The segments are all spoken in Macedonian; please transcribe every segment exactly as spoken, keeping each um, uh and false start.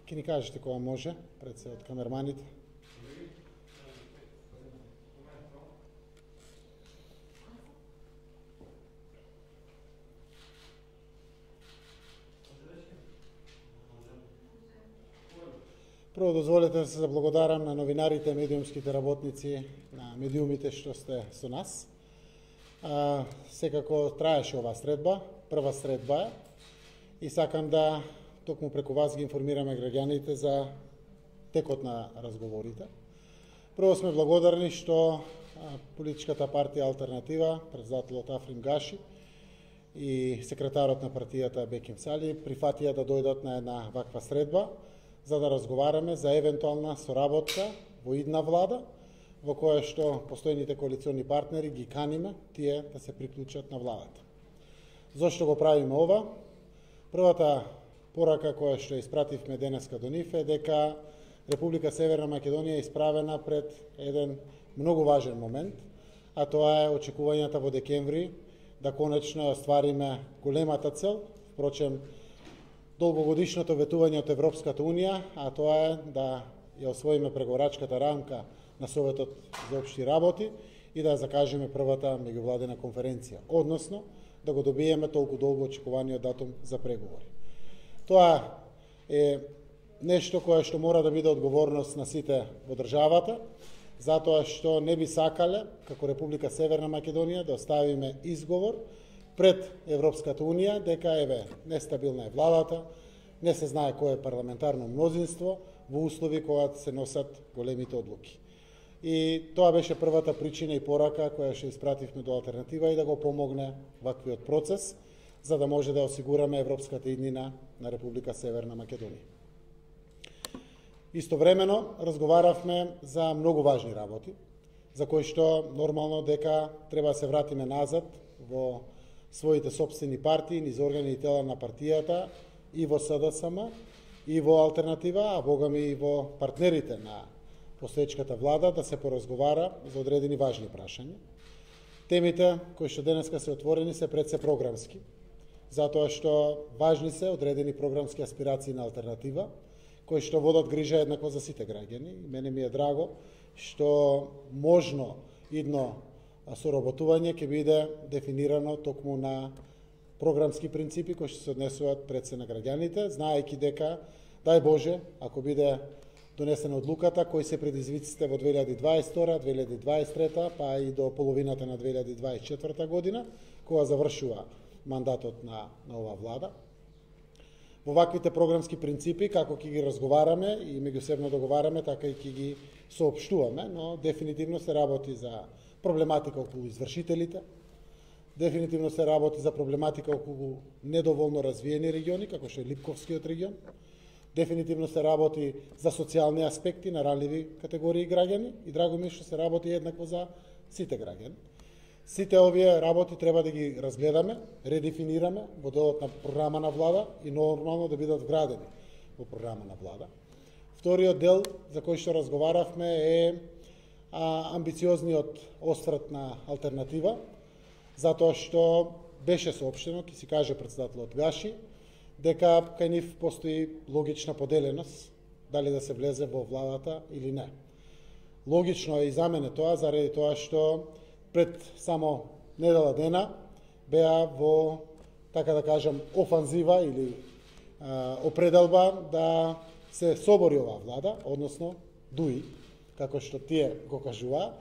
Ке ни кажете кога може, пред се од камерманите. Прво дозволете да се заблагодарам на новинарите, медиумските работници, на медиумите што сте со нас. А, секако траеше оваа средба, прва средба е, и сакам да токму преку вас ги информираме граѓаните за текот на разговорите. Прво сме благодарни што а, политичката партија Алтернатива, председателот Африм Гаши и секретарот на партијата Беким Сали прифатија да дојдат на една ваква средба, за да разговараме за евентуална соработка во идна влада, во која што постојните коалициони партнери ги каниме тие да се приклучат на владата. Зошто го правиме ова? Првата порака која што испративме денеска до нив е дека Република Северна Македонија е исправена пред еден многу важен момент, а тоа е очекувањата во декември да конечно оствариме големата цел, впрочем, долгогодишното ветување од Европската Унија, а тоа е да ја освоиме преговорачката рамка на Советот за општи работи и да закажеме првата меѓувладена конференција, односно да го добиеме толку долго очекуваниот датум за преговори. Тоа е нешто кое што мора да биде одговорност на сите во државата, затоа што не би сакале, како Република Северна Македонија, да оставиме изговор пред Европската Унија дека еве нестабилна е владата, не се знае кој е парламентарно мнозинство во услови кога се носат големите одлуки. И тоа беше првата причина и порака која што испративме до Алтернатива и да го помогне ваквиот процес, за да може да осигураме европската иднина на Република Северна Македонија. Истовремено разговаравме за многу важни работи, за кои што нормално дека треба да се вратиме назад во своите собствени партии, низ органи и тела на партијата, и во СДСМ, и во Алтернатива, а богами и во партнерите на постоечката влада, да се поразговара за одредени важни прашања. Темите кои што денеска се отворени се пред се програмски, затоа што важни се одредени програмски аспирации на Алтернатива, кои што водат грижа еднакво за сите граѓани. Мене ми е драго што можно идно соработување ќе биде дефинирано токму на програмски принципи кои што се однесуваат пред се на граѓаните, знаејќи дека, дај Боже, ако биде донесена одлуката, кои се предизвиците во две илјади дваесет и втора, две илјади дваесет и трета, па и до половината на две илјади дваесет и четврта година, кога завршува мандатот на, на оваа влада. Во ваквите програмски принципи, како ќе ги разговараме и меѓусебно договараме, така и ќе ги соопштуваме, но дефинитивно се работи за проблематика околу извршителите, дефинитивно се работи за проблематика околу недоволно развиени региони, како што е Липковскиот регион, дефинитивно се работи за социјални аспекти на ранливи категории граѓани и драго ми што се работи еднакво за сите граѓани. Сите овие работи треба да ги разгледаме, редефинираме во делот на програма на влада и нормално да бидат вградени во програма на влада. Вториот дел за кој што разговаравме е а, амбициозниот осврт на Алтернатива, затоа што беше соопштено, ќе си каже председателот Гаши, дека кај нив постои логична поделеност дали да се влезе во владата или не. Логично е и за мене тоа, заради тоа што пред само недела дена беа во, така да кажам, офанзива или а, определба да се собори оваа влада, односно дуи, како што тие го кажува,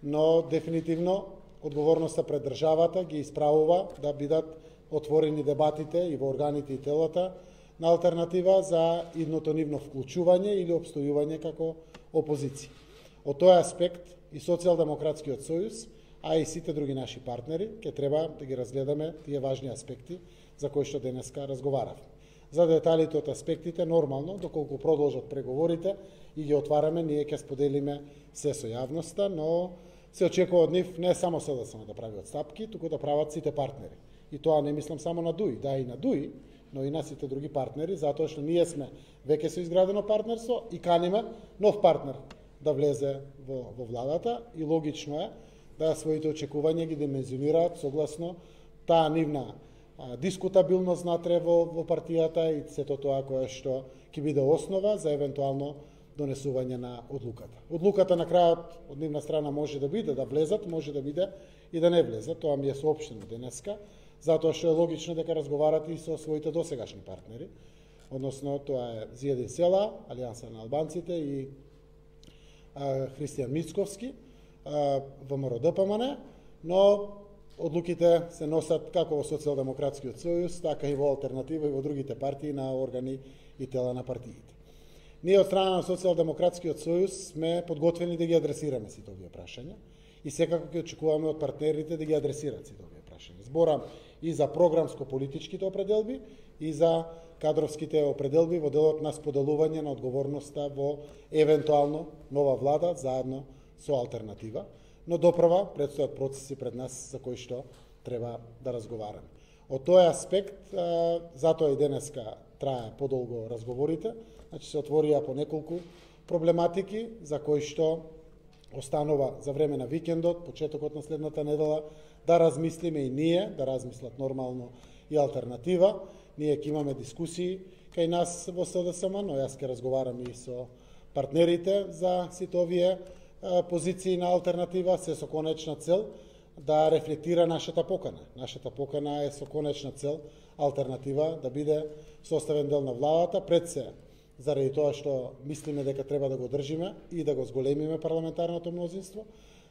но дефинитивно одговорноста пред државата ги исправува да бидат отворени дебатите и во органите и телата на Алтернатива за идното нивно вклучување или обстојување како опозиција. Од тој аспект и Социјалдемократскиот сојуз, а и сите други наши партнери, ќе треба да ги разгледаме тие важни аспекти за кои што денеска разговаравме. За деталите од аспектите, нормално, доколку продолжат преговорите и ги отвараме, ние ќе споделиме се со јавноста, но се очекува од нив не само СДСМ да прави отстапки, туку да прават сите партнери. И тоа не мислам само на ДУИ, да и на ДУИ, но и на сите други партнери, затоа што ние сме веќе со изградено партнерство и каниме нов партнер да влезе во, во владата и логично е да своите очекувања ги димензионираат согласно таа нивна дискутабилност натре во, во партијата и сето тоа кое што ќе биде основа за евентуално донесување на одлуката. Одлуката на крајот од нивна страна може да биде да влезат, може да биде и да не влезат, тоа ми е соопштено денеска, затоа што е логично дека разговарате и со своите досегашни партнери, односно тоа е Зиједин Села, Алијанса на албанците и а, Христијан Мицковски, ВМРО-ДПМН, но одлуките се носат како во Социјалдемократскиот сојуз, така и во Алтернатива и во другите партии на органи и тела на партиите. Ние од страна на Социјалдемократскиот сојуз сме подготвени да ги адресираме сите овие прашања и секако ќе очекуваме од партнерите да ги адресираат сите овие прашања. Зборам и за програмско-политичките определби и за кадровските определби во делот на споделување на одговорноста во евентуално нова влада заедно со Алтернатива, но допрва предстојат процеси пред нас за кои што треба да разговараме. Од тој аспект, затоа и денеска трае подолго разговорите, значи се отворија по неколку проблематики за кои што останува за време на викендот, почетокот на следната недела, да размислиме и ние, да размислат нормално и Алтернатива. Ние ќе имаме дискусии кај нас во СДСМ, но јас ќе разговарам и со партнерите за сите овие позиции на Алтернатива, се со конечна цел да рефлектира нашата покана. Нашата покана е со конечна цел Алтернатива да биде составен дел на владата, пред се заради тоа што мислиме дека треба да го држиме и да го зголемиме парламентарното мнозинство.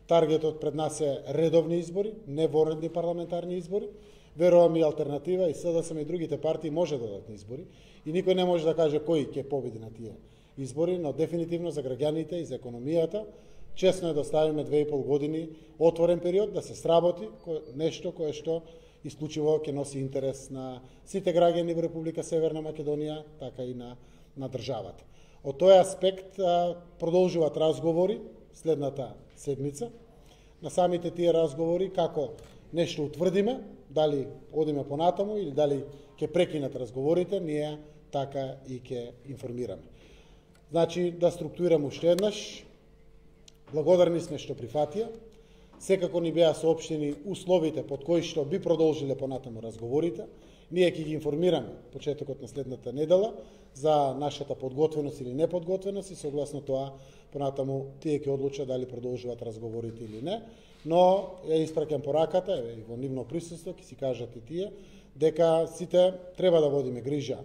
Таргетот пред нас е редовни избори, не воредни парламентарни избори. Верувам и Алтернатива и СДСМ и другите партии може да дадат избори и никој не може да каже кој ќе победи на тие избори, но дефинитивно за граѓаните и за економијата честно е да оставиме две и пол години отворен период да се сработи нешто кое што исклучиво ќе носи интерес на сите граѓани во Република Северна Македонија, така и на на државата. Од тој аспект продолжуваат разговори следната седмица. На самите тие разговори како нешто утврдиме, дали одиме понатаму или дали ќе прекинат разговорите, ние така и ќе информираме. Значи да структурирам уште еднаш. Благодарни сме што прифатија. Секако ни беа соопштени условите под кои што би продолжиле понатаму разговорите. Ние ќе ги информираме почетокот на следната недела за нашата подготвеност или неподготвеност и согласно тоа понатаму тие ќе одлучат дали продолжуваат разговорите или не, но ја испраќам пораката и во нивно присуство ќе си кажат и тие дека сите треба да водиме грижа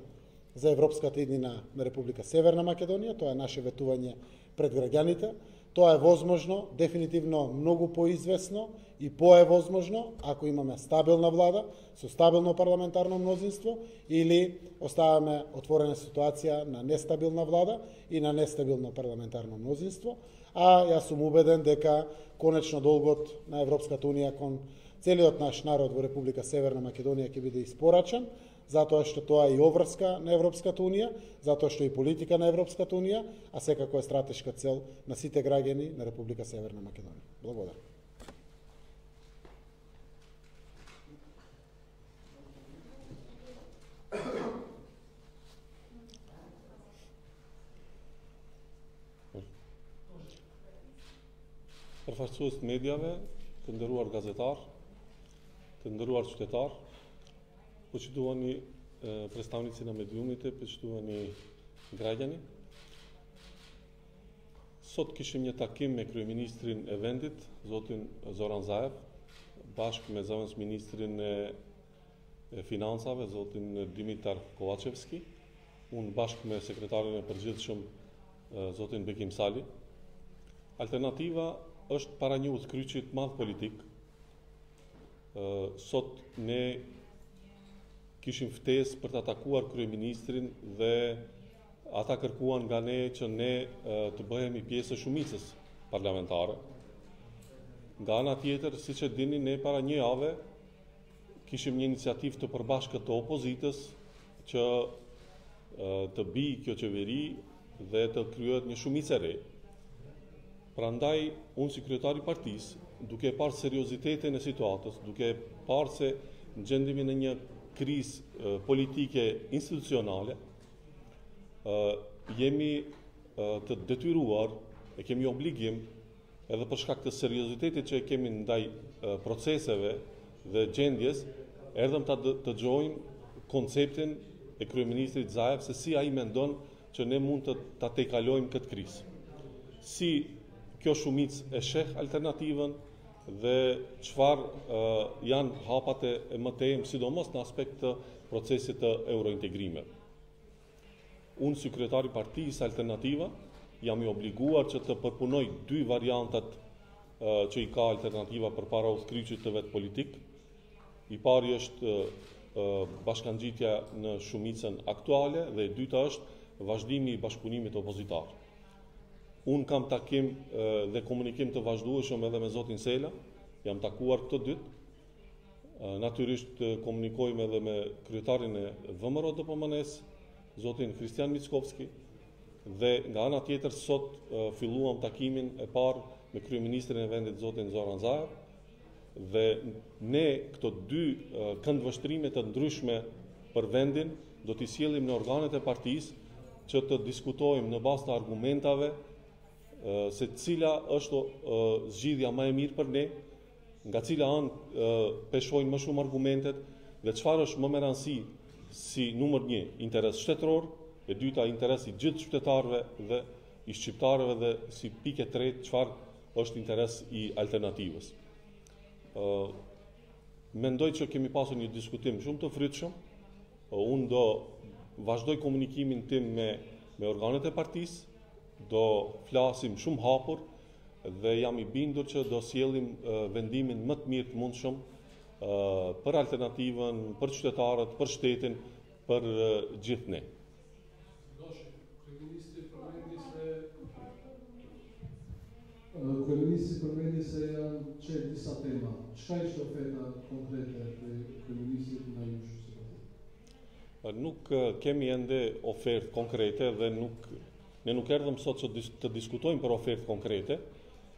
за европската иднина на Република Северна Македонија, тоа е наше ветување пред граѓаните. Тоа е возможно, дефинитивно многу поизвестно и поевозможно ако имаме стабилна влада со стабилно парламентарно мнозинство или оставаме отворена ситуација на нестабилна влада и на нестабилно парламентарно мнозинство, а јас сум убеден дека конечно долгот на Европската унија кон целиот наш народ во Република Северна Македонија ќе биде испорачен, затоа што тоа е и обврска на Европската унија, затоа што е и политика на Европската унија, а секако е стратешка цел на сите граѓани на Република Северна Македонија. Благодарам. Përfaqësues të medjave, të nderuar gazetar, të nderuar qytetar, почитувани представници на медиумите, почитувани граѓани. Сот кишим një takim me kryeministrin e vendit, zotin Zoran Zaev, bashkë me zëvendës ministrin e financave, zotin Dimitar Kovacevski, unë bashkë me sekretarin e përgjithshëm, zotin Bekim Sali. Alternativa është para një udhkryqi të madh politik. Sot ne kishim ftesë për të atakuar kryeministrin dhe ata kërkuan nga ne që ne të bëhemi pjesë e shumicës parlamentare. Nga ana tjetër, siç e dini, ne para një jave kishim një iniciativë të përbashkët të opozitës që të bijë kjo qeveri dhe të krijohet një shumicë e re. Prandaj, unë si kryetari i partisë, duke parë seriozitetin e situatës, duke parë se gjendemi në një krizë politike institucionale, jemi të detyruar, e kemi obligim, edhe për shkak të seriozitetit që e kemi ndaj proceseve dhe gjendjes, erdhëm ta të dëgjojmë konceptin e kryeministrit Zaev se si ai mendon që ne mund të ta tejkalojmë këtë krizë. Si kjo shumicë e sheh alternativën dhe çfarë uh, janë hapat e mëtejmë, sidomos në aspekt të procesit të eurointegrimit. Unë si kryetari partisë Alternativa jam i obliguar që të përpunoj dy variantat uh, që i ka Alternativa përpara udhkryqit të vet politik. I pari është uh, bashkangjitja në shumicën aktuale dhe e dyta është vazhdimi i bashkëpunimit opozitar. Unë kam takim uh, dhe komunikim të vazhdueshëm edhe me zotin Sela, jam takuar këtë dytë. Uh, natyrisht uh, komunikojmë edhe me kryetarin e V M R O D P M N-s, zotin Kristian Mickovski, dhe nga ana tjetër sot uh, filluam takimin e parë me kryeministrin e vendit zotin Zoran Zaev, dhe ne këto dy uh, këndvështrime të ndryshme për vendin do t'i sjellim në organet e partisë që të diskutojmë në bazë të argumentave uh, se cila është uh, zgjidhja më e mirë për ne, nga cila anë uh, peshojnë më shumë argumentet dhe çfarë është më me rëndësi si numër një interes shtetëror, e dyta interes i gjithë qytetarëve dhe i shqiptarëve dhe si pikë tretë çfarë është interes i alternativës. Uh, mendoj që kemi pasur një diskutim shumë të frytshëm. Uh, unë do vazhdoj komunikimin tim me, me organet e partisë, do flasim shumë hapur dhe jam i bindur që do sjellim uh, vendimin më të mirë të mundshëm uh, për Alternativën, për qytetarët, për shtetin, për uh, gjithë ne. Kryeministri përmendi se janë qenë disa tema. Çka ishte oferta konkrete e kryeministrit nga ju? Nuk kemi ende ofertë konkrete dhe nuk ne nuk erdhëm sot që të diskutojmë për ofertë konkrete,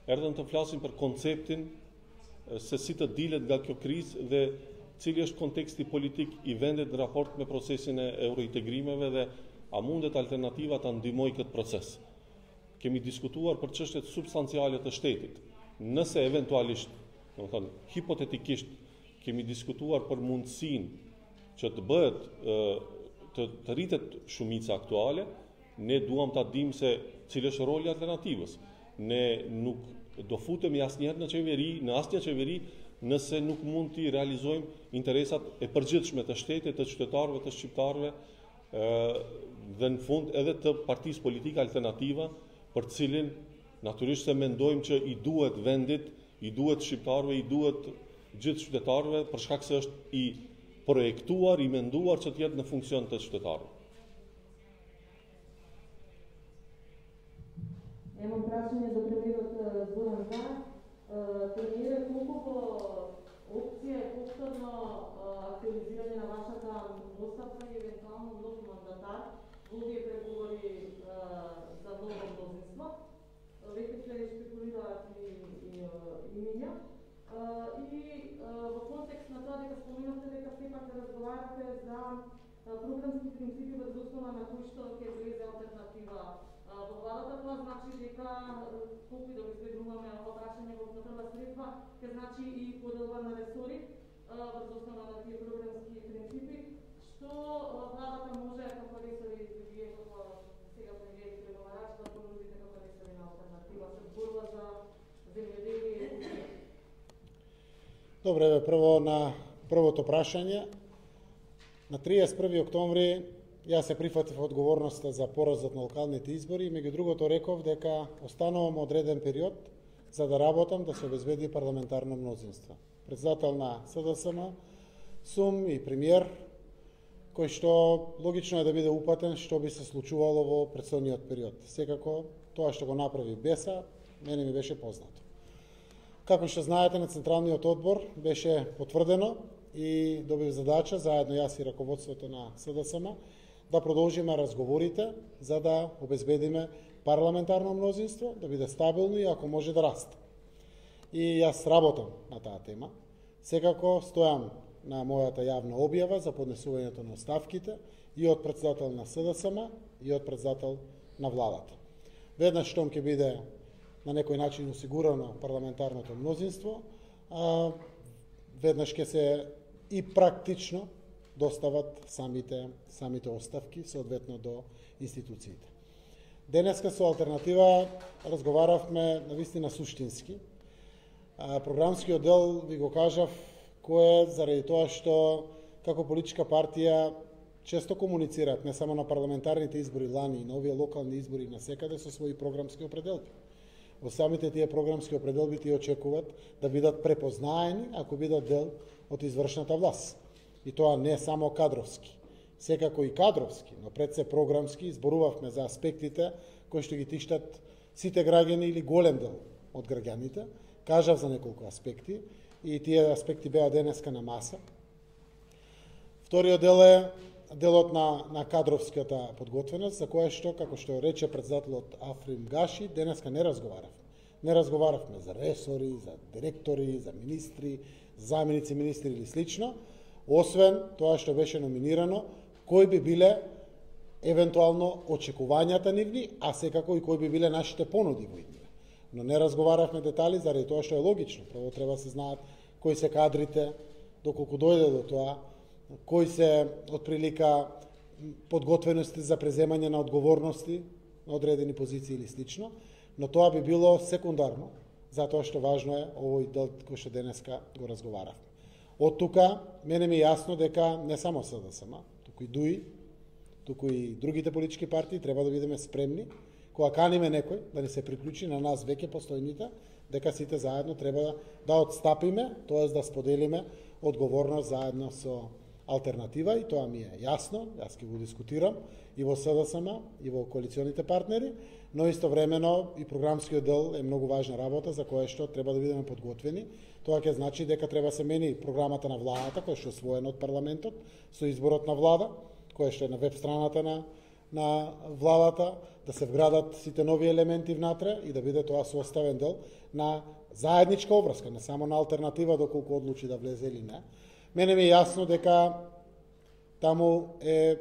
erdhëm të flasim për konceptin se si të dilet nga kjo krizë dhe cili është konteksti politik i vendit në raport me procesin e eurointegrimeve dhe a mundet Alternativa ta ndihmojë këtë proces. Kemi diskutuar për çështjet substanciale të shtetit. Nëse eventualisht, do të thonë, hipotetikisht kemi diskutuar për mundësinë që të bëhet të, të rritet shumica aktuale, ne duam ta dimë se cili është roli i Alternativës. Ne nuk do futemi asnjëherë në qeveri, në asnjë qeveri, nëse nuk mund të realizojmë interesat e përgjithshme të shtetit, të qytetarëve, të shqiptarëve, dhe në fund edhe të partisë politike Alternativa, për cilin natyrisht se mendojmë që i duhet vendit, i duhet shqiptarëve, i duhet gjithë qytetarëve, për shkak se është i projektuar, i menduar që të jetë në funksion të qytetarëve. Имам прашање до премиерот Зоран Заев. Премиере, колку по опција е повторно активизирање на вашата оставка и евентуално нов мандатар во овие преговори за ново мнозинство? Веќе се спекулираат и, и, и имиња. И во контекст на тоа дека споменавте дека сепак да разговарате за програмски принципи врз основа на кои што ќе влезе Алтернатива во владата, тоа значи дека колку да избегнуваме ова прашање во прва средба, ќе значи и поделба на ресори врз основа на тие програмски принципи, што владата може како ресори вие како сега премиер и преговарач да понудите како ресори на Алтернатива се борба за земјоделие. Добре, прво на првото прашање. На триесет и први октомври јас се прифатив одговорноста за поразот на локалните избори и меѓу другото реков дека останувам одреден период за да работам да се обезбеди парламентарно мнозинство. Председател на С Д С М сум и премиер, кој што логично е да биде упатен што би се случувало во претходниот период. Секако тоа што го направи Беса, мене ми беше познато. Како што знаете, на Централниот одбор беше потврдено и добив задача, заедно јас и раководството на С Д С М, да продолжиме разговорите за да обезбедиме парламентарно мнозинство, да биде стабилно и ако може да расте. И јас работам на таа тема. Секако стојам на мојата јавна објава за поднесувањето на оставките и од председател на С Д С М и од председател на владата. Веднаш штом ќе биде на некој начин осигурано парламентарното мнозинство, а, веднаш ќе се и практично достават самите самите оставки соодветно до институциите. Денеска со алтернатива разговаравме навистина суштински. А, програмскиот дел ви го кажав кој е заради тоа што како политичка партија често комуницираат не само на парламентарните избори лани и на овие локални избори насекаде со своји програмски определби. Во самите тие програмски определби тие очекуваат да бидат препознаени ако бидат дел од извршната власт. И тоа не само кадровски, секако и кадровски, но пред се програмски изборувавме за аспектите кои што ги тиштат сите граѓани или голем дел од граѓаните. Кажав за неколку аспекти и тие аспекти беа денеска на маса. Вториот дел е делот на, на кадровската подготвеност, за која што, како што рече председателот Африм Гаши, денеска не разговаравме. Не разговаравме за ресори, за директори, за министри, заменици министри или слично, освен тоа што беше номинирано, кои би биле евентуално очекувањата нивни, а секако и кои би биле нашите понуди во иднина. Но не разговаравме детали, заради тоа што е логично. Прво треба да се знаат кои се кадрите, доколку дојде до тоа, кои се отприлика подготвености за преземање на одговорности на одредени позиции или слично, но тоа би било секундарно, затоа што важно е овој дел кој што денеска го разговаравме. Од тука, мене ми е јасно дека не само СДСМ, туку и ДУИ, туку и другите политички партии треба да бидеме спремни, кога каниме некој да ни се приклучи на нас веќе постојните, дека сите заедно треба да, да отстапиме, тоест да споделиме одговорност заедно со алтернатива, и тоа ми е јасно, јас ќе го дискутирам и во СДСМ, и во коалиционите партнери, но истовремено и програмскиот дел е многу важна работа за која што треба да бидеме подготвени. Тоа ќе значи дека треба се мени програмата на владата, која што е освоена од парламентот, со изборот на влада, која што е на веб страната на, на владата, да се вградат сите нови елементи внатре и да биде тоа составен дел на заедничка обврска, не само на алтернатива доколку одлучи да влезе или не. Мене ми е јасно дека таму е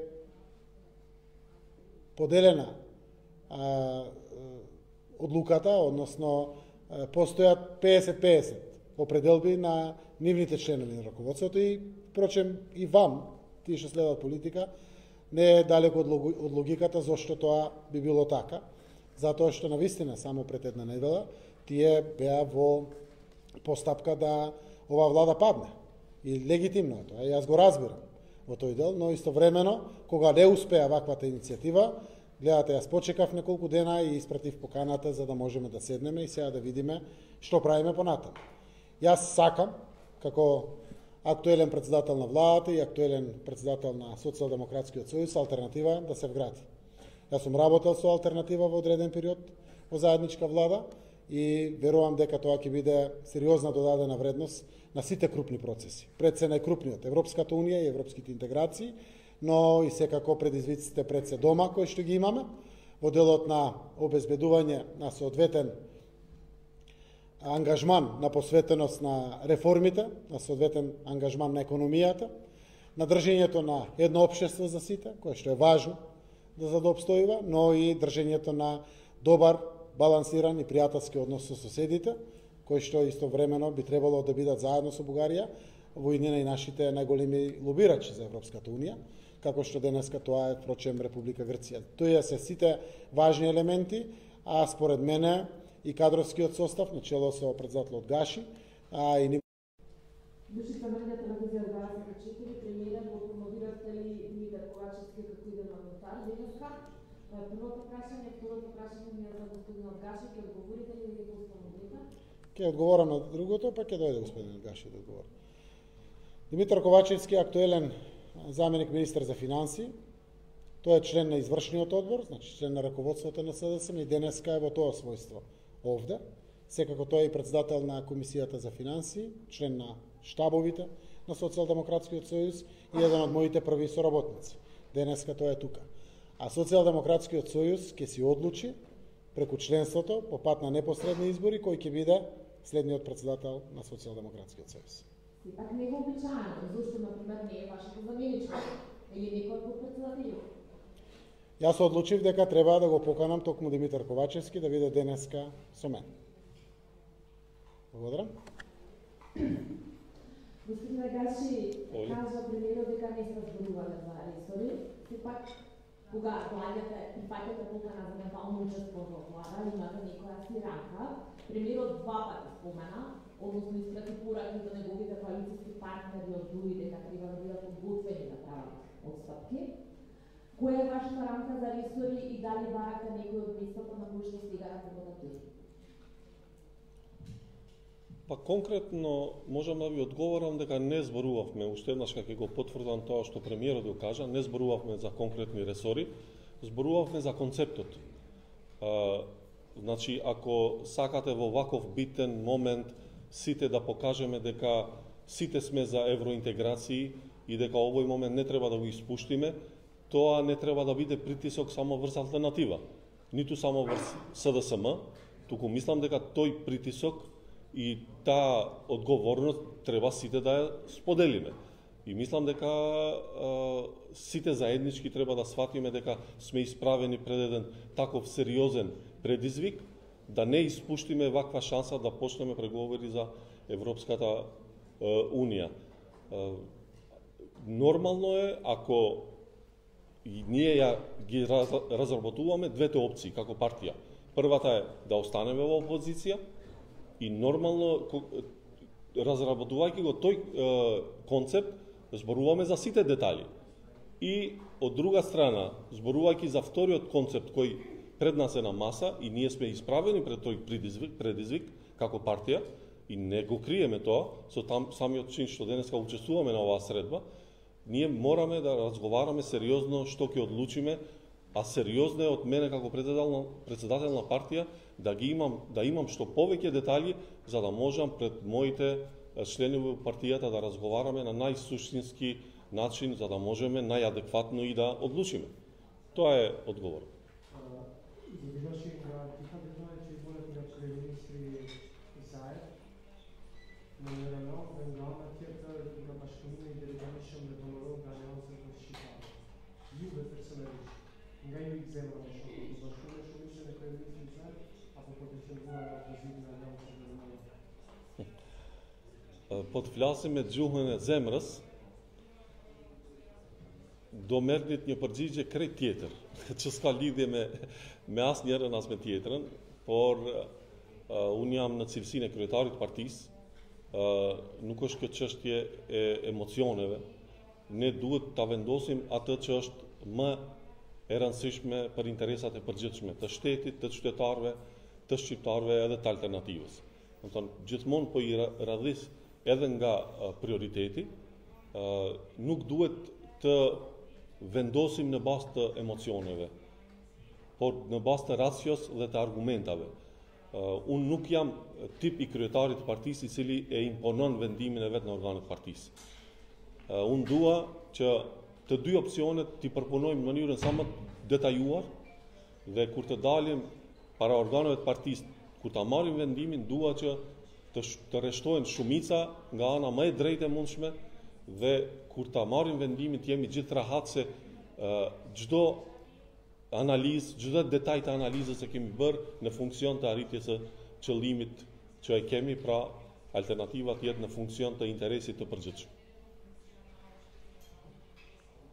поделена а, одлуката, односно а, постојат петдесет петдесет определби на нивните членови на раководството и, впрочем, и вам, тие што следат политика, не е далеко од логиката зашто тоа би било така, затоа што навистина само пред една недела тие беа во постапка да ова влада падне. И легитимно е тоа, јас го разбирам во тој дел, но истовремено, кога не успеа ваквата иницијатива, гледате, јас почекав неколку дена и испратив поканата за да можеме да седнеме и сега да видиме што правиме понатаму. Јас сакам, како актуелен председател на владата и актуелен председател на Социјалдемократскиот сојуз, алтернатива да се вгради. Јас сум работел со алтернатива во одреден период во заедничка влада и верувам дека тоа ќе биде сериозна додадена вредност на сите крупни процеси. Пред се најкрупниот Европската унија и европските интеграции, но и секако предизвиците пред се дома кои што ги имаме во делот на обезбедување на соодветен ангажман на посветеност на реформите, на соодветен ангажман на економијата, на држењето на едно општество за сите, кое што е важно да за да обстојува, но и држењето на добар, балансиран и пријателски однос со соседите, кои што истовремено би требало да бидат заедно со Бугарија во иднина и нашите најголеми лобирачи за Европската унија, како што денеска тоа е, впрочем, Република Грција. Тоа се сите важни елементи, а според мене и кадровскиот состав, начело со председателот Гаши, а и ни... Душица медија телевизија дваесет и четири, премиерот го промовиравте ли Димитар Ковачевски како иден мандатар денеска? Првото прашање, второто прашање ми е за господинот Гаши, ќе одговорите ли или го установите? Ќе одговорам на другото, па ќе дојде господинот Гаши да одговори. Димитар Ковачевски е актуелен заменик министер за финансии. Тој е член на извршниот одбор, значи член на раководството на СДСМ и денеска е во тоа својство овде. Секако тој е и председател на Комисијата за финансии, член на штабовите на Социјалдемократскиот сојуз и еден од моите први соработници. Денеска тој е тука. А Социјалдемократскиот сојуз ќе си одлучи преку членството по пат на непосредни избори кој ќе биде следниот председател на Социјалдемократскиот сојуз. Пак не го обичаено, зашто например не е вашето заменичко или некој од председателите? Јас одлучив дека треба да го поканам токму Димитар Ковачевски да биде денеска со мен. Благодарам. Господин Нагаши кажа премиерот дека не се зборувале за ресори, сепак кога доаѓате и пакете покана за евентуално учество во влада, имате некоја си рамка. Премиерот два пати спомена, односно испрати пораки до неговите коалицијски партнери од ДУИ дека треба да бидат подготвени да прават отстапки. Која е вашата рамка за ресори и дали барате некој од местата на кои што сега работите? Па конкретно можам да ви одговорам дека не зборувавме, уште еднаш кога ќе го потврдам тоа што премиерот го кажа, не зборувавме за конкретни ресори, зборувавме за концептот. А, значи, ако сакате во ваков битен момент сите да покажеме дека сите сме за евроинтеграции и дека овој момент не треба да го испуштиме, тоа не треба да биде притисок само врз алтернатива, ниту само врз С Д С М, туку мислам дека тој притисок и таа одговорност треба сите да ја споделиме. И мислам дека а, сите заеднички треба да сватиме дека сме исправени пред еден таков сериозен предизвик, да не испуштиме ваква шанса да почнеме преговори за Европската а, Унија. А, нормално е, ако и ние ја ги раз, разработуваме двете опции како партија. Првата е да останеме во опозиција и нормално, разработувајќи го тој е, концепт, зборуваме за сите детали. И од друга страна, зборувајќи за вториот концепт кој пред нас е на маса и ние сме исправени пред тој предизвик, предизвик како партија и не го криеме тоа, со там самиот чин што денеска учествуваме на оваа средба, ние мораме да разговараме сериозно што ќе одлучиме, а сериозно е од мене како председател, председател на партија да ги имам да имам што повеќе детали за да можам пред моите членови во партијата да разговараме на најсуштински начин за да можеме најадекватно и да одлучиме. Тоа е одговор. Под флясиме џухнен е земраз, домернит një përgjigje krejt tjetër, që s'ka lidhje me, me asë njërën as me tjetërën, por uh, unë jam në cilësinë e kryetarit partisë, uh, nuk është kjo çështje e emocioneve, ne duhet ta vendosim atë që është më e rëndësishme për interesat e përgjithshme të shtetit, të qytetarëve, të shqiptarëve edhe të alternativës. Do të thonë, gjithmonë po i radhis edhe nga uh, prioriteti, uh, nuk duhet të vendosim në bazë të emocioneve, por në bazë të racios dhe të argumentave. Uh, unë nuk jam tip i kryetarit të partisë i cili e imponon vendimin e vetë në organet partisë. Uh, unë dua që të dy opsionet t'i përpunojmë në mënyrën sa më detajuar dhe kur të dalim para organeve të partisë, kur ta marrim vendimin, dua që të, të rreshtohen shumica nga ana më e drejtë e mundshme dhe kur ta marrim vendimin të jemi gjithë rahat se uh, çdo analizë, çdo detaj të analizës që kemi bërë në funksion të arritjes së qëllimit që e kemi, pra alternativa të jetë në funksion të interesit të përgjithshëm.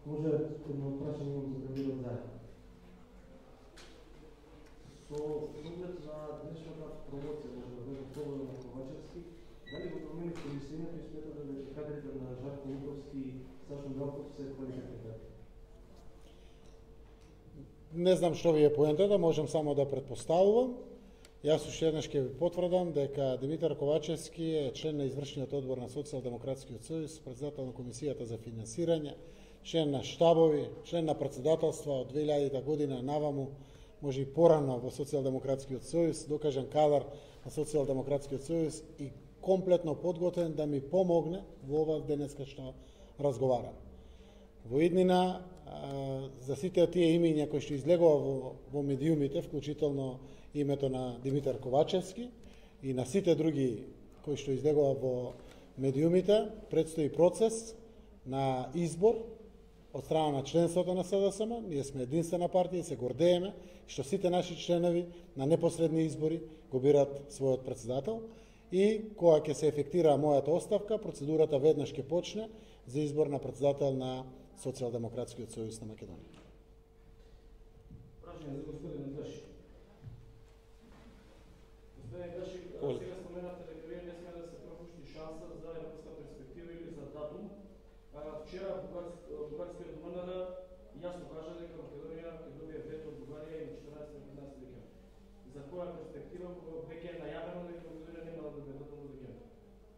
Може едно прашање за премиерот заедно. Со оглед на днешната промоција на Слободан Ковачевски, дали го промените мислењето и сметате дека кадрите на Жарко Митровски и Сашо Милков се квалификатни? Не знам што ви е поентата, можам само да претпоставувам. Јас уште еднаш ќе ви потврдам дека Димитар Ковачевски е член на извршниот одбор на Социјалдемократскиот сојуз, председател на Комисијата за финансирање, член на штабови, член на председателства од две илјадета година наваму, може и порано во Социјалдемократскиот сојуз, докажан кадар на Социјалдемократскиот сојуз и комплетно подготвен да ми помогне во ова денеска што разговарам. Во иднина, за сите тие имиња кои што излегува во, во медиумите, вклучително името на Димитар Ковачевски и на сите други кои што излегува во медиумите, предстои процес на избор од страна на членството на С Д С М. Ние сме единствена партија и се гордееме што сите наши членови на непосредни избори го бират својот председател и кога ќе се ефектира мојата оставка, процедурата веднаш ќе почне за избор на председател на Социјалдемократскиот сојуз на Македонија. Прашање за господин Гаши. Господин Гаши, сега споменавте дека вие не сме да се пропушти шанса за европска перспектива или за датум. Вчера бугарскиот МНР јасно кажа дека Македонија ќе добие вето од Бугарија и четиринаесети и петнаесети декември. За која перспектива веќе е најавено дека Македонија нема да добие датум до декември?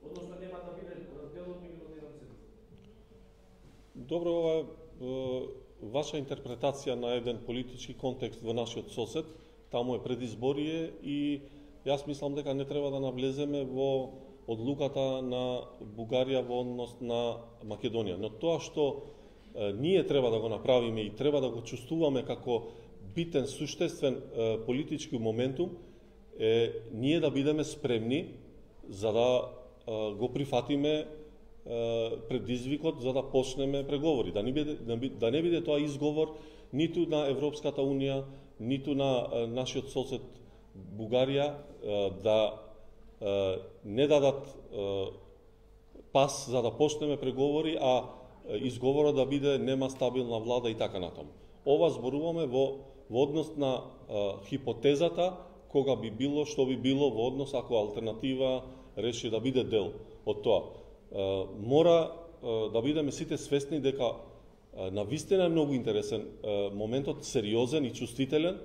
Односно нема да биде дел од меѓународната седмица. Добро, ова е ваша интерпретација на еден политички контекст во нашиот сосед. Таму е предизборие и јас мислам дека не треба да навлеземе во одлуката на Бугарија во однос на Македонија. Но тоа што е, ние треба да го направиме и треба да го чувствуваме како битен, суштествен е, политички моментум е ние да бидеме спремни за да е, го прифатиме предизвикот за да почнеме преговори, да не биде да не биде тоа изговор ниту на Европската унија, ниту на нашиот сосед Бугарија да не дадат пас за да почнеме преговори, а изговорот да биде нема стабилна влада и така натаму. Ова зборуваме во во однос на хипотезата кога би било што би било во однос ако алтернатива реши да биде дел од тоа. Мора да бидеме сите свесни дека навистина е многу интересен моментот, сериозен и чувствителен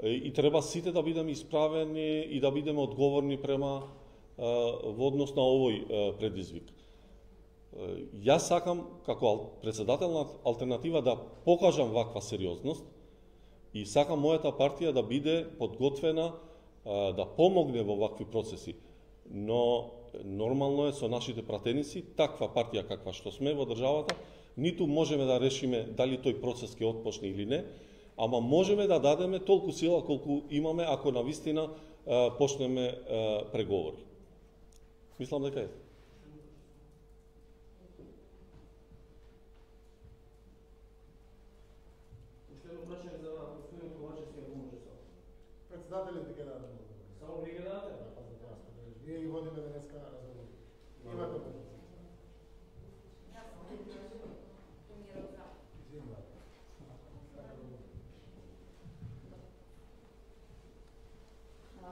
и треба сите да бидеме исправени и да бидеме одговорни према во однос на овој предизвик. Јас сакам како председател на алтернатива да покажам ваква сериозност и сакам мојата партија да биде подготвена да помогне во вакви процеси, но нормално е со нашите пратеници, таква партија каква што сме во државата, ниту можеме да решиме дали тој процес ќе отпочне или не, ама можеме да дадеме толку сила колку имаме ако навистина почнеме преговори. Мислам дека е. Последно прашање за господин Ковачевски, ако може само. Председателите ќе дадат. Само вие ќе дадете? Вие ги водиме денеска разговор. Имате можност.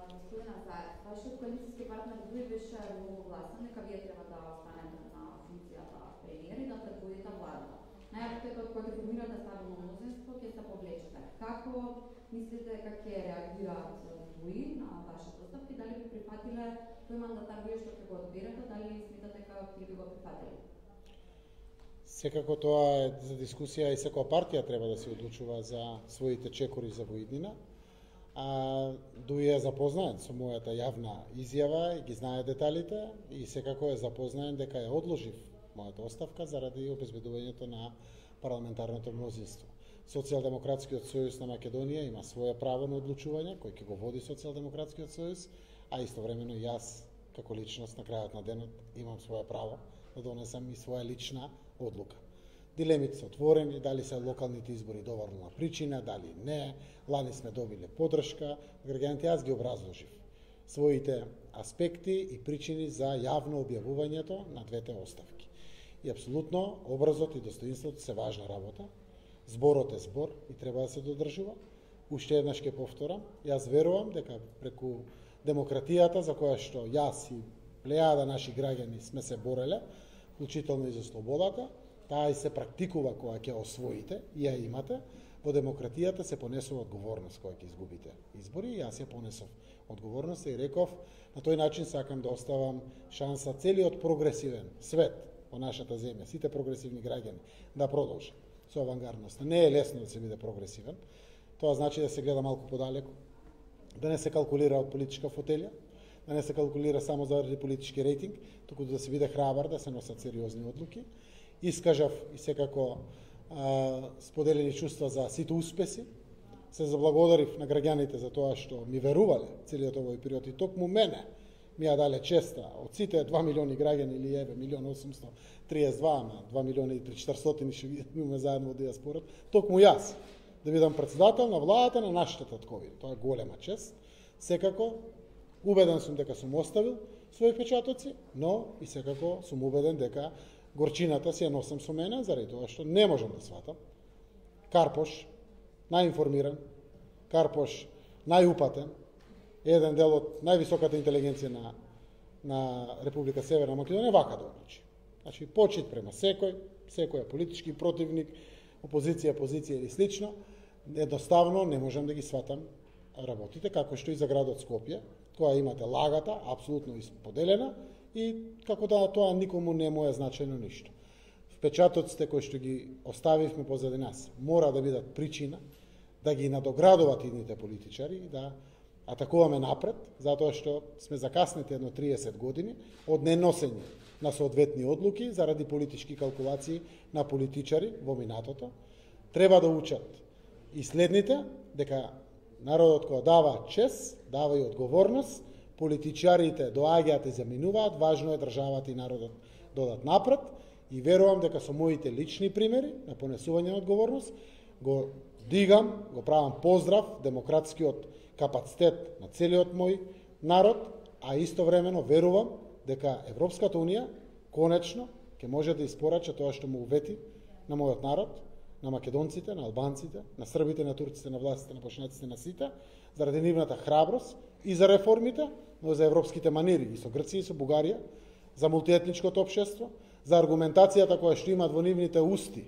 Господина Заев, вашиот коалицијски партнер Дуј беше многу гласен дека вие треба да останете на функцијата премиер и да предводите владата. Најавите кога ќе формирате стабилно мнозинство ќе се повлечете. Како мислите дека ќе реагираат Дуј на вашата оставка и дали би прифатиле тој мандатар вие што ќе го одберете, дали сметате дека ќе би го прифатиле? Секако тоа е за дискусија и секоја партија треба да се одлучува за своите чекори за воиднина. А, Дуј е запознаен со мојата јавна изјава и ги знае деталите и секако е запознаен дека ја одложив мојата оставка заради обезбедувањето на парламентарното мнозинство. Социјалдемократскиот сојуз на Македонија има свое право на одлучување, кој ќе го води Социјалдемократскиот сојуз, а истовремено јас, како личност на крајот на денот, имам свое право да донесам и своја лична одлука. Дилемите се отворени, дали се локалните избори доволна причина, дали не, лани сме добиле поддршка, граѓаните јас ги образложив своите аспекти и причини за јавно објавувањето на двете оставки. И апсолутно образот и достоинството се важна работа, зборот е збор и треба да се додржува. Уште еднаш ќе повторам, јас верувам дека преку демократијата за која што јас и плејада наши граѓани сме се бореле, вклучително и за слободата, таа и се практикува кога ќе освоите и ја имате, во демократијата се понесува одговорност кога ќе изгубите избори и јас ја понесов одговорност и реков на тој начин сакам да оставам шанса целиот прогресивен свет во нашата земја, сите прогресивни граѓани да продолжат со авангардноста. Не е лесно да се биде прогресивен, тоа значи да се гледа малку подалеку, да не се калкулира од политичка фотелја, да не се калкулира само заради политички рейтинг, туку да се биде храбар, да се носат сериозни одлуки. Искажав и секако а, споделени чувства за сите успеси. Се заблагодарив на граѓаните за тоа што ми верувале целиот овој период и токму мене ми ја дале честа од сите два милиони граѓани или еве милион осумсто триесет два, ама два милиона и четиристотини што имаме заедно во диаспората, токму јас да бидам председател на владата на нашите таткови. Тоа е голема чест. Секако убеден сум дека сум оставил своји печатоци, но и секако сум убеден дека горчината си ја носам со мене, заради тоа што не можам да сватам. Карпош, најинформиран, Карпош, најупатен, еден дел од највисоката интелигенција на, на Република Северна Македонија, вака да одлучи. Значи, почит према секој, секој политички противник, опозиција, позиција или слично, едноставно не можам да ги сватам работите, како што и за градот Скопје, која имате лагата, апсолутно исподелена, и како да тоа никому не му е значено ништо. Впечатоците кои што ги оставивме позади нас мора да бидат причина да ги надоградуваат идните политичари и да атакуваме напред, затоа што сме закаснети едно триесет години од неносење на соодветни одлуки заради политички калкулации на политичари во минатото. Треба да учат и следните дека народот кој дава чест, дава и одговорност, политичарите доаѓаат и заминуваат, важно е државата и народот додат напред и верувам дека со моите лични примери на понесување на одговорност го дигам, го правам поздрав демократскиот капацитет на целиот мој народ, а истовремено верувам дека Европската Унија конечно ќе може да испорача тоа што му увети на мојот народ, на македонците, на албанците, на србите, на турците, на властите, на бошњаците, на сите, заради нивната храброст и за реформите, но за европските манири и со Грција и со Бугарија, за мултиетничкото општество, за аргументацијата која што имаат во нивните усти,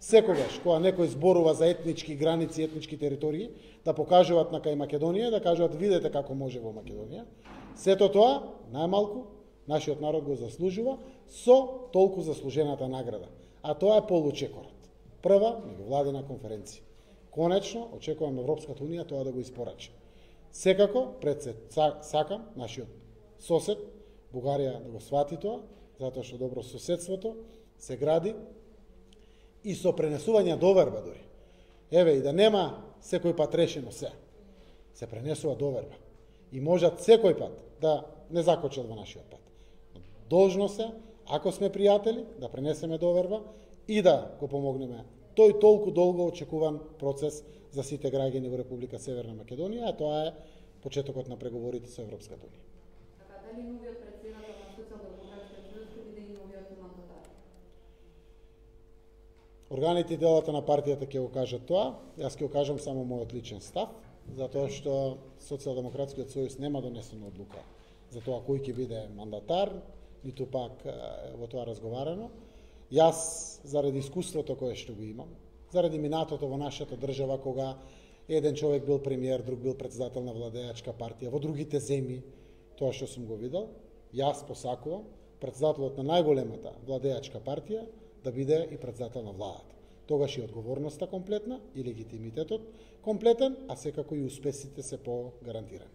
секогаш кога некој зборува за етнички граници, етнички територии, да покажуваат на кај Македонија, да кажуваат видете како може во Македонија. Сето тоа, најмалку, нашиот народ го заслужува со толку заслужената награда. А тоа е получекорот. Прва меѓувладина конференција. Конечно, очекувам Европската Унија тоа да го испорача. Секако, пред се сакам нашиот сосед, Бугарија, да го свати тоа, затоа што добро соседството се гради и со пренесување доверба дури. Еве, и да нема секој пат решено се. Се пренесува доверба. И можат секој пат да не закочат во нашиот пат. Должно се, ако сме пријатели, да пренесеме доверба и да го помогнеме тој толку долго очекуван процес за сите граѓани во Република Северна Македонија, а тоа е почетокот на преговорите со Европската Унија. Така, дали новиот претседател на Социјалдемократскиот сојуз ќе биде и новиот мандатар? Органите и делата на партијата ќе го кажат тоа, јас ќе го кажам само мојот личен став, затоа што Социјалдемократскиот сојуз нема донесена одлука за тоа кој ќе биде мандатар, ниту пак во тоа разговарано. Јас, заради искуството кое што го имам, заради минатото во нашата држава, кога еден човек бил премиер, друг бил председател на владеачка партија, во другите земји, тоа што сум го видел, јас посакувам председателот на најголемата владеачка партија да биде и председател на владата. Тогаш и одговорноста комплетна, и легитимитетот комплетен, а секако и успесите се по-гарантирани.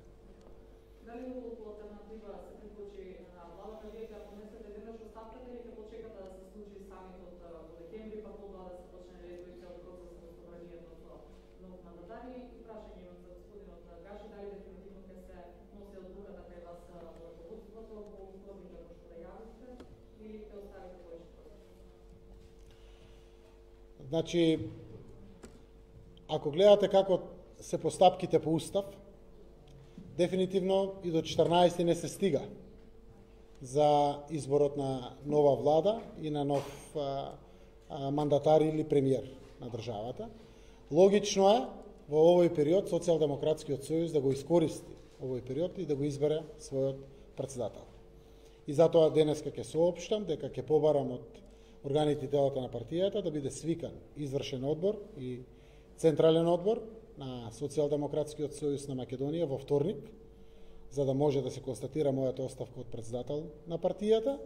Дали многу алтернатива се приклучи на владата, вие ќе понесете веднаш оставката или ќе почекате да се случи самитот во декември, па тогава да се почне редови цел процес за собранието со нов мандатар? И прашање имам за господинот Гаши, дали дефинитивно ќе се носи одлуката кај вас во руководството, во условите кои што да јавите, или ќе оставите повеќе процес? Значи, ако гледате како се постапките по устав, дефинитивно и до четрнаесети не се стига за изборот на нова влада и на нов а, а, мандатар или премиер на државата. Логично е во овој период Социјалдемократскиот сојуз да го искористи овој период и да го избере својот председател. И затоа денеска ќе соопштам дека ќе побарам од органите и телата на партијата да биде свикан извршен одбор и централен одбор на Социјалдемократскиот сојуз на Македонија во вторник, за да може да се констатира мојата оставка од председател на партијата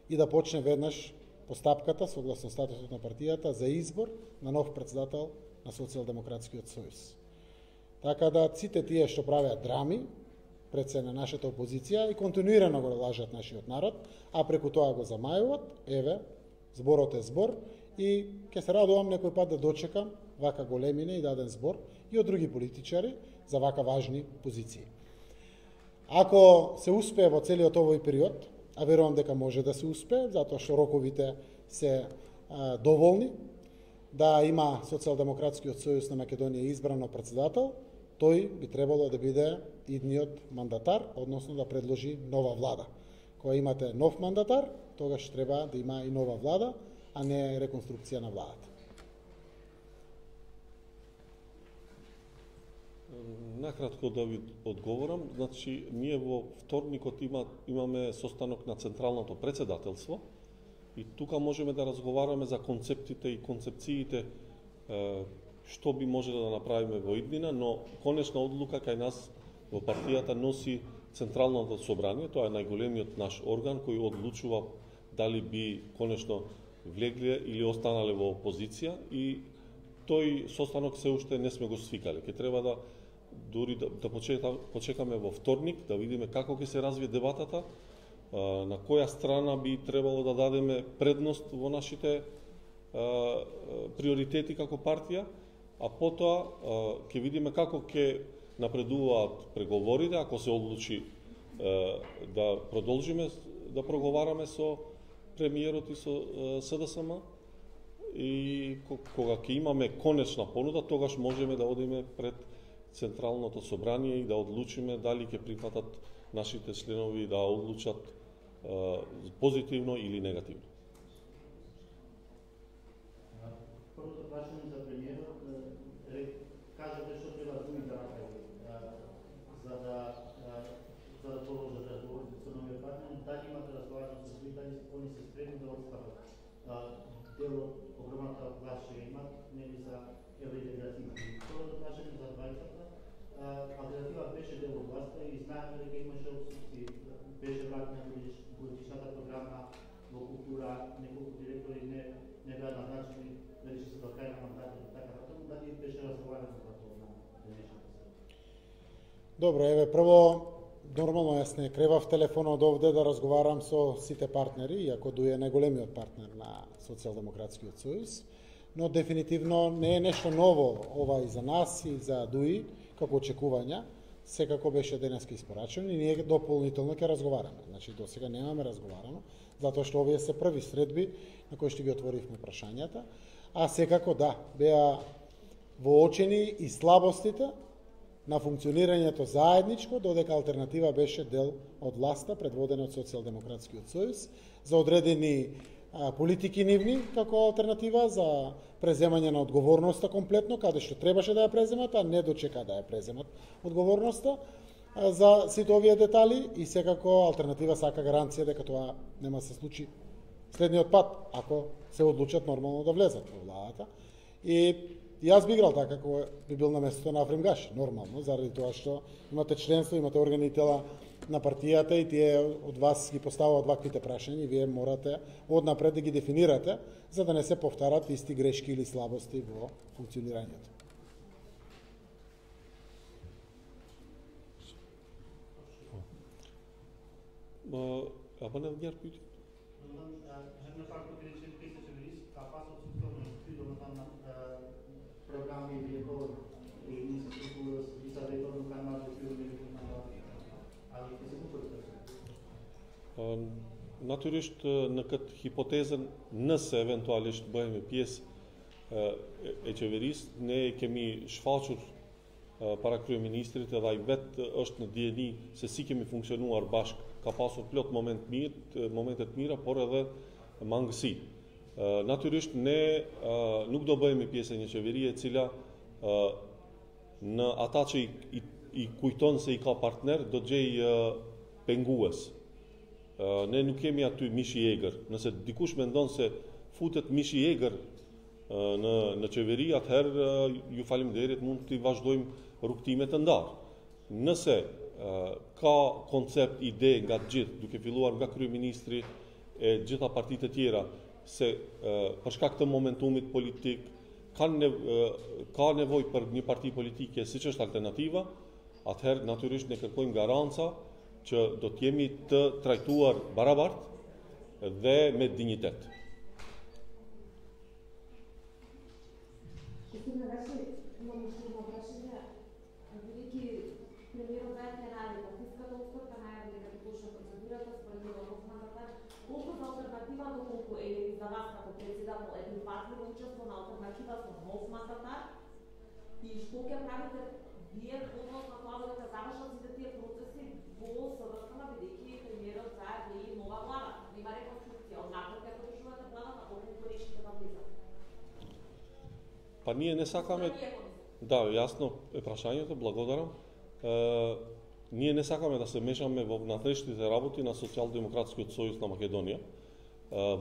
и да почне веднаш постапката согласно статусот на партијата за избор на нов председател на Социјалдемократскиот сојуз. Така да сите тие што правеат драми пред се на нашата опозиција и континуирано го лажат нашиот народ, а преку тоа го замајуваат, еве, зборот е збор и ќе се радувам некој пат да дочекам вака големине и даден збор и од други политичари за вака важни позиции. Ако се успее во целиот овој период, а верувам дека може да се успее, затоа што роковите се а, доволни, да има Социјалдемократскиот сојуз на Македонија избрано председател, тој би требало да биде идниот мандатар, односно да предложи нова влада. Кога имате нов мандатар, тогаш треба да има и нова влада, а не реконструкција на владата. Накратко да ви одговорам, значи ние во вторникот има, имаме состанок на Централното председателство и тука можеме да разговараме за концептите и концепциите што би можеле да направиме во иднина, но конечна одлука кај нас во партијата носи Централното собрание, тоа е најголемиот наш орган кој одлучува дали би конечно влегле или останале во опозиција и тој состанок се уште не сме го свикале. Ке треба да дури да, да почека, почекаме во вторник, да видиме како ќе се развие дебатата, на која страна би требало да дадеме предност во нашите приоритети како партија, а потоа ќе видиме како ќе напредуваат преговорите, ако се одлучи да продолжиме да проговараме со премиерот и со СДСМ и кога ќе имаме конечна понуда, тогаш можеме да одиме пред Централното собрание и да одлучиме дали ќе прифатат нашите членови да одлучат позитивно или негативно. Првото прашање за премиерот, кажете што треба Дуи да направи за да за да продолжат разговорите со новиот партнер, дали имате разговарано со Дуи, дали они се спремни да отстапат дел од огромната власт што имат, нели за евроинтеграција. Второто прашање за двајцата, алтернатива беше дел од власта и знаеме дека имаше отсутствие, беше вратена годишната програма во култура, неколку директори не не беа назначени, дали се до крај на мандатот и така натаму, дали беше разговарано за тоа на денешната седмица? Добро, еве прво нормално јас не кревав телефонот овде да разговарам со сите партнери, иако Дуи е најголемиот партнер на Социјалдемократскиот сојуз, но дефинитивно не е нешто ново ова и за нас и за Дуи, како очекувања, секако беше денеска испорачено и ние дополнително ќе разговараме. Значи, до сега немаме разговарано, затоа што овие се први средби на кои што ги отворивме прашањата, а секако да, беа воочени и слабостите на функционирањето заедничко, додека алтернатива беше дел од власта, предводена од Социјалдемократскиот сојуз, за одредени а, политики нивни како алтернатива, за преземање на одговорноста комплетно, каде што требаше да ја преземат, а не дочека да ја преземат одговорноста а, за сите овие детали и секако алтернатива сака гаранција дека тоа нема се случи следниот пат, ако се одлучат нормално да влезат во владата. И јас би играл така како би бил на местото на Африм Гаши, нормално, заради тоа што имате членство, имате органи и тела на партијата и тие од вас ги поставаат ваквите прашања и вие морате однапред да ги дефинирате, за да не се повтарат исти грешки или слабости во функционирањето. Або не вгар пити? Програми или и институции и съветовно канал Naturisht në këtë hipotezën, nëse eventualisht bëhemi pjesë e qeverisë, ne kemi shfaqur para kryeministrit edhe ai vetë është në dijeni se si kemi funksionuar bashkë, ka pasur plot moment mirë, momentet mira, por edhe mangësi. Natyrisht ne nuk do bëhemi pjesë e një qeverie e cila në ata që i, i, i kujton se i ka partner do të gjej pengues. Ne nuk kemi aty mishi i egër. Nëse dikush mendon se futet mishi i egër në në qeveri, atëherë ju faleminderit, mund të vazhdojmë rrugtime të ndarë. Nëse ka koncept, ide nga të gjithë, duke filluar nga kryeministri e gjitha partitë e tjera, se për shkak të momentumit politik kanë nev ka nevojë për një parti politike siç është alternativa, atëherë natyrisht ne kërkojmë garanca që do të jemi të trajtuar barabartë dhe me dinjitet. Господин Гаши, имам уште едно прашање. Бидејќи премиерот заедно најави партиската оставка, најави дека ќе почне процедурата според нов мандатар, колку за алтернатива, доколку е за вас како председател е прифатливо учество на алтернатива со нов мандатар и што ќе правите вие односно тоа дека завршат сите тие процеси во СВС-на, бидејќи премиерот заедно и нова влада, нема реконструкција, однакво како држувате владата, колку решите да влизат. Па ние не сакаме. Да, јасно е прашањето, благодарам. Е, ние не сакаме да се мешаме во внатрешните работи на Социјалдемократскиот сојуз на Македонија. Е,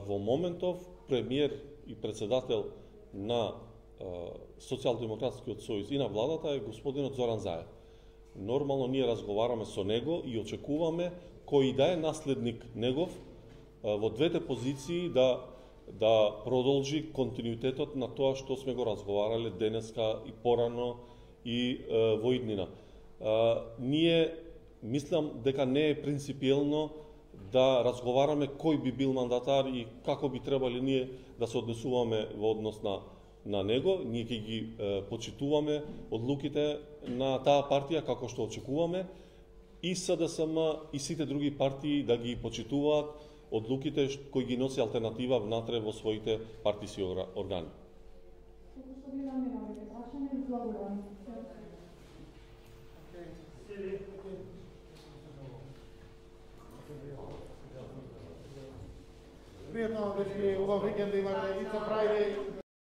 во моментов премиер и председател на Социјалдемократскиот сојуз и на владата е господинот Зоран Заев. Нормално ние разговараме со него и очекуваме кој да е наследник негов во двете позиции да да продолжи континуитетот на тоа што сме го разговарале денеска и порано и е, во иднина. Е, ние мислам дека не е принципиелно да разговараме кој би бил мандатар и како би требали ние да се однесуваме во однос на на него. Ние ќе ги е, почитуваме одлуките на таа партија како што очекуваме и СДСМ и сите други партии да ги почитуваат одлуките кои ги носи алтернатива внатре во своите партиски органи. Пријатно, дечки, убав викенд да имате. It's a Friday.